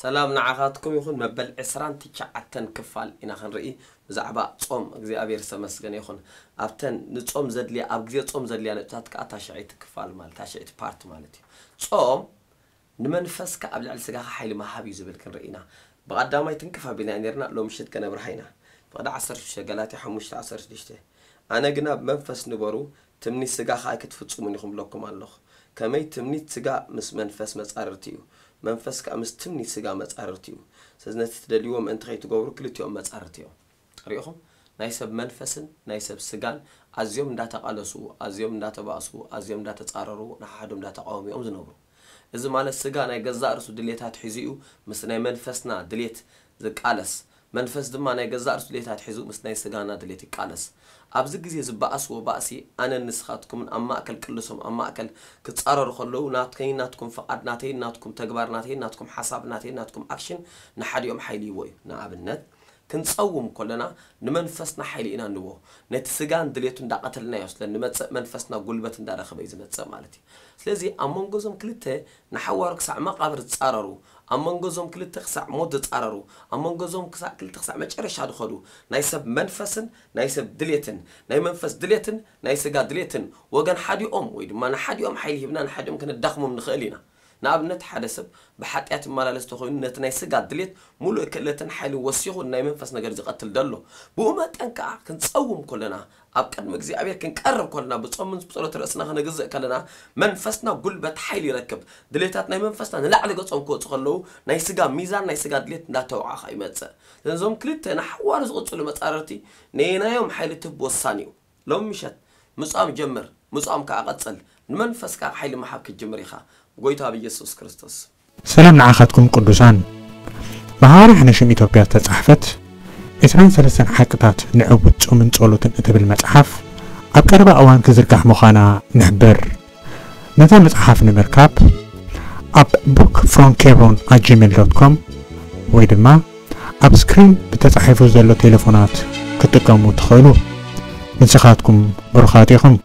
ሰላም ንዓኻትኩም ይኹን። መበል ዕስራን ትሽዓተን ክፋል ኢና ክንርኢ ብዛዕባ ጾም። እግዚኣብሔር ዝተመስገነ ይኹን። ኣብተን ንጾም ዘድልያ፣ ኣብ ግዜ ጾም ዘድልያ ነጥብታት ከኣ ታሽዐይቲ ክፋል ማለት፣ ታሽዐይቲ ፓርት ማለት እዩ። ጾም ንመንፈስካ ኣብ ልዕሊ ስጋኻ ሓይሊ ምሃብ እዩ ዝብል ክንርኢ ኢና። ብቐዳማይ ትንክፍ ኣቢልና ነርና፣ ሎም ምሽት ከነብርሃ ኢና። ፍቕዲ ዓሰርተ ሽዱሽተ፣ ገላትያ ሓሙሽተ ዓሰርተ ሽዱሽተ። ኣነ ግና ብመንፈስ ንበሩ፣ ትምኒት ስጋ ከኣ ኣይክትፍጽሙን ኢኹም እብለኩም ኣለኹ። ከመይ ትምኒት ስጋ ምስ መንፈስ መጻርርቲ እዩ፣ መንፈስ ከኣ ምስ ትምኒት ስጋ መጻርርቲ እዩ። ስለዚ ነቲ ትደልይዎ ምእንቲ ከይትገብሩ ክልቲኦም መጻርርቲ እዮም። ርኢኹም? ናይ ሰብ መንፈስን ናይ ሰብ ስጋን ኣዝዮም እንዳተቓለሱ፣ ኣዝዮም እንዳተባእሱ፣ ኣዝዮም እንዳተጻረሩ፣ ንሓድሕዶም እንዳተቃወሙ እዮም ዝነብሩ። እዚ ማለት ስጋ ናይ ገዛእ ርእሱ ድሌታት ሒዙ እዩ ምስ ናይ መንፈስና ድሌት ዝቃለስ፣ መንፈስ ድማ ናይ ገዛእ ርእሱ ድሌታት ሒዙ ምስ ናይ ስጋና ድሌት ይቃለስ። ኣብዚ ግዜ ዝበኣስዎ ባእሲ ኣነን ንስኻትኩምን ኣብ ማእከል ቅልሶም ኣብ ማእከል ክጻረሩ ከለዉ ናተይን ናትኩም ፍቓድ፣ ናተይን ናትኩም ተግባር፣ ናተይን ናትኩም ሓሳብ፣ ናተይን ናትኩም ኣክሽን ንሓዲኦም ሓይሊ ይህቦ እዩ። ንኣብነት ክንጸውም ከለና ንመንፈስና ሓይሊ ኢና ንቦ። ነቲ ስጋን ድሌቱ እንዳቐተልናዮ ስለ ንመጽእ መንፈስና ጉልበት እንዳረኸበ እዩ ዝመጽእ ማለት እዩ። ስለዚ ኣብ መንጎ እዞም ክልተ ንሓዋሩ ክሳዕ መቓብር ዝጻረሩ፣ ኣብ መንጎ እዞም ክልተ ክሳዕ ሞት ዝጻረሩ፣ ኣብ መንጎ እዞም ክሳዕ ክልተ ክሳዕ መጨረሻ ዝኸዱ ናይ ሰብ መንፈስን ናይ ሰብ ድሌትን፣ ናይ መንፈስ ድሌትን ናይ ስጋ ድሌትን ወገን ሓዲኦም ወይ ድማ ንሓዲኦም ሓይሊ ሂብና ንሓዲኦም ከነዳኽሞም ንኽእል ኢና። ንኣብነት ሓደ ሰብ ብሓጢኣት ይመላለስ ተኾይኑ ነቲ ናይ ስጋ ድሌት ሙሉእ ክእለትን ሓይልን ወሲኹ ናይ መንፈስ ነገር ዝቐትል ደሎ። ብኡ መጠን ከኣ ክንጸውም ከለና ኣብ ቅድሚ እግዚኣብሔር ክንቀርብ ከለና ብጾምን ብጸሎት ርእስና ክነግዝእ ከለና መንፈስና ጉልበት ሓይሊ ይረክብ። ድሌታት ናይ መንፈስና ንላዕሊ ገጾም ክወጹ ከለዉ ናይ ስጋ ሚዛን ናይ ስጋ ድሌት እንዳተወዓኸ ይመጽእ። ነዞም ክልተ ንሓዋሩ ዝቕጽሉ መጻረርቲ ነየናዮም ሓይሊ ትህብ ወሳኒ እዩ። ሎም ምሸት ምጻም ጀምር፣ ምጻም ከኣ ቀጽል። ንመንፈስካ ሓይሊ ምሓብ ክትጅምር ኢኻ። ብጎይታ ብኢየሱስ ክርስቶስ። ሰላም ንዓኻትኩም ቅዱሳን። ብሃዋርያ ሓነሽም ኢትዮጵያ ዝተጻሕፈት ዕስራን ሰለስተን ሓቅታት ንዕውት ጾምን ጸሎትን እትብል መጽሓፍ ኣብ ቀረባ እዋን ክዝርጋሕ ምዃና ንሕብር። ነዛ መጽሓፍ ንምርካብ ኣብ book from kebron at gmail dot com ወይ ድማ ኣብ ስክሪን ብተጻሒፉ ዘሎ ቴሌፎናት ክትጥቀሙ ትኽእሉ። ንስኻትኩም ብሩኻት ኢኹም።